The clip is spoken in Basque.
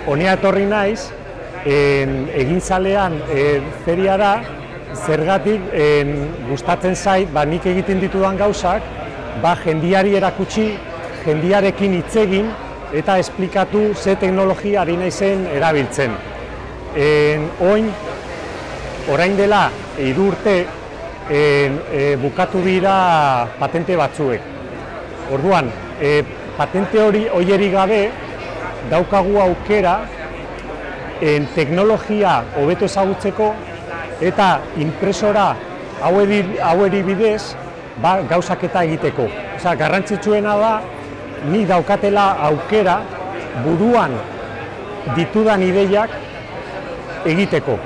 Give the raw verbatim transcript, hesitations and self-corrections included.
honea etorri naiz, en, egintzalean e, feriara, zergatik en, gustatzen zait, ba, nik egiten ditudan gauzak, ba, jendiari erakutsi, jendiarekin hitz egin, eta esplikatu ze teknologia ari naizen erabiltzen. En, oin, orain dela, hiru urte, en, e, bukatu dira patente batzuek. Orduan, e, patente hori hoieri gabe, daukagu aukera en, teknologia hobeto ezagutzeko eta impresora haueri bidez ba, gauzaketa egiteko. Osea, garrantzitsuena da, ni daukatela aukera buruan ditudan ideiak egiteko.